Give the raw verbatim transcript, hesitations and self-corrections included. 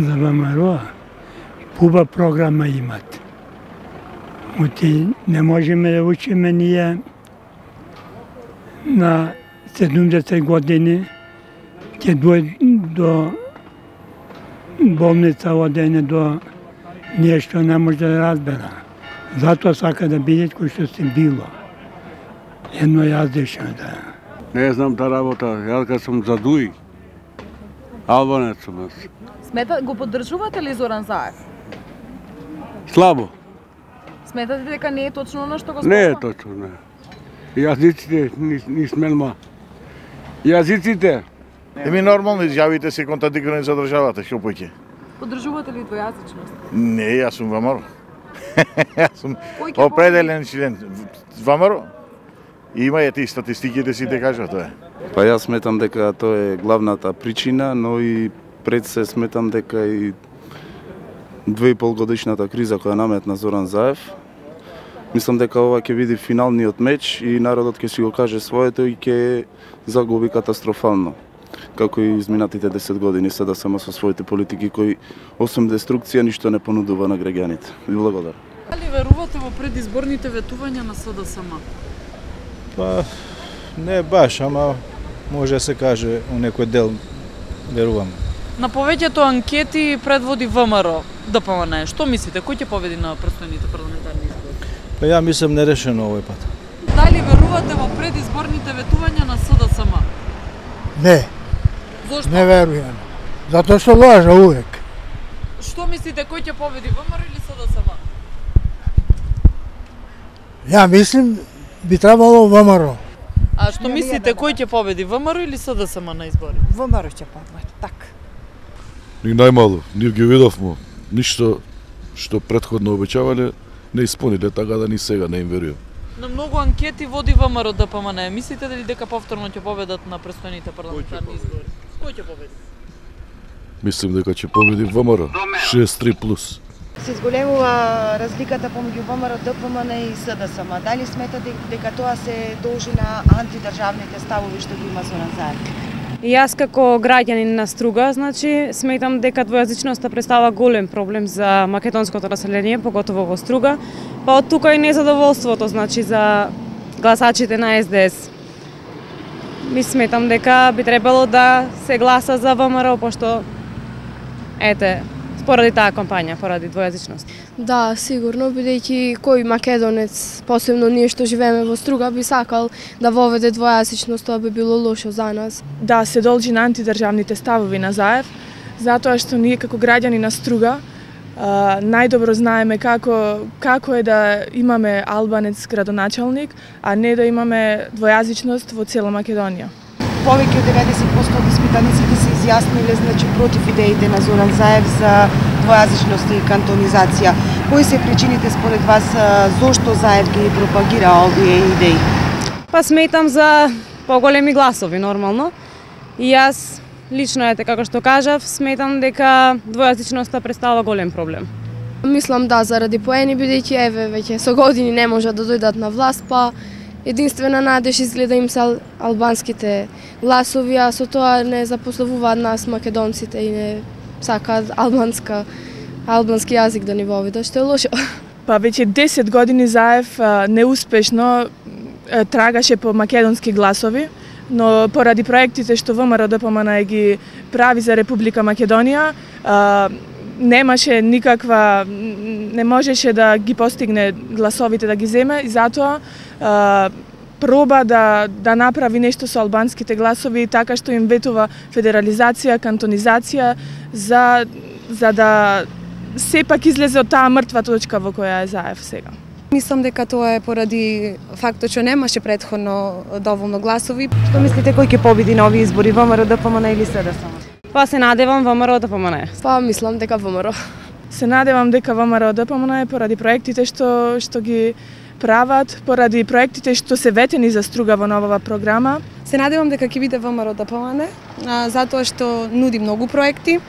за ВМРО, хубава програма имат. Оти не можеме да учиме ние на седумдесет години, ќе дојде до болница одене до нешто не може да разбера. Затоа сака да биде кој што се било. Едно јаздешно да. Не знам та работа, јас кога сум за Дуи, албанец сум јас. Смета, го поддржувате ли Зоран Заев? Слабо. Сметате дека не е точно оно што го зборува? Не е точно, не. Јазиците ни, ни смелма. Јазиците. Еми нормално изјавите се контрадикторни за државата, што поќе. Поддржувате ли двојазичност? Не, јас сум ВМРО. Јас сум определен член ВМРО. Има ете и статистиките си те кажат тоа. Па јас сметам дека тоа е главната причина, но и пред се сметам дека и две и пол годишната криза која наметна Зоран Заев. Мислам дека ова ќе биде финалниот меч и народот ќе си го каже своето и ќе загуби катастрофално. Како и изминатите десет години СДСМ со своите политики кои освен деструкција ништо не понудува на граѓаните. Ви благодарам. Дали верувате во предизборните ветувања на СДСМ? Па не баш, ама може да се каже у некој дел верувам. На повеќето анкети предводи ВМРО ДПМН. Што мислите, кој ќе победи на престојните парламентарни избори? Па ја мислам нерешено овој пат. Дали верувате во предизборните ветувања на СДСМ? Не. Зошто? Не верувам. Затоа што лажа увек. Што мислите, кој ќе победи, ВМРО или СДСМ? Ја мислим би требало ВМРО. А што мислите, кој ќе победи, ВМРО или СДСМ на избори? ВМРО ќе победи, така. Ни најмало, ние ги видовме. Ништо што претходно обеќавале не исполниле, така да ни сега не им верувам. На многу анкети води ВМРО ДПМН. Мислите дали дека повторно ќе победат на престојните парламентарни избори? Кој ќе победи? Мислим дека ќе победи ВМРО шест три плюс. Се зголемува разликата помеѓу ВМРО, ДПМН и СДСМ. Дали сметате дека тоа се должи на антидржавните ставови што ги има Зоран Заев? Јас како граѓанин на Струга, значи, сметам дека двојазичноста представа голем проблем за македонското население, поготово во Струга, па од тука и незадоволството, значи, за гласачите на Ес Де Ес. Ми сметам дека би требало да се гласа за ВМРО, пошто, ете, поради таа кампања, поради двојазичност. Да, сигурно, бидејќи кој македонец, посебно ние што живееме во Струга, би сакал да воведе двојазичност, тоа би било лошо за нас. Да, се должи на антидржавните ставови на Заев, затоа што ние како граѓани на Струга најдобро знаеме како како е да имаме албанец градоначалник, а не да имаме двојазичност во цела Македонија. Повеќе од деветдесет проценти од испитаниците се изјасниле, значи, против идеите на Зоран Заев за двојазичност и кантонизација. Кои се причините според вас зошто Заев ги пропагира овие идеи? Па сметам за поголеми гласови нормално. И јас лично, ете како што кажав, сметам дека двојазичноста представува голем проблем. Мислам да, заради поени, бидејќи еве веќе со години не можат да дојдат на власт, па единствена надеж изгледа им се албанските гласови, а со тоа не запославуваат нас македонците и не сакаат албанска албански јазик да ни воведат, што е лошо. Па веќе десет години Заев неуспешно трагаше по македонски гласови, но поради проектите што ВМРО ДПМН ги прави за Република Македонија, немаше никаква, не можеше да ги постигне гласовите да ги земе и затоа а, проба да да направи нешто со албанските гласови така што им ветува федерализација, кантонизација за за да сепак излезе од таа мртва точка во која е Заев сега. Мислам дека тоа е поради фактот што немаше претходно доволно гласови. Што мислите, кој ќе победи на овие избори, ВМРО ДПМН или СДСМ? Па се надевам ВМРО ДПМН. Па мислам дека ВМРО. Се надевам дека ВМРО ДПМН поради проектите што што ги прават, поради проектите што се ветени за Струга во новава програма. Се надевам дека ќе биде ВМРО ДПМН, затоа што нуди многу проекти,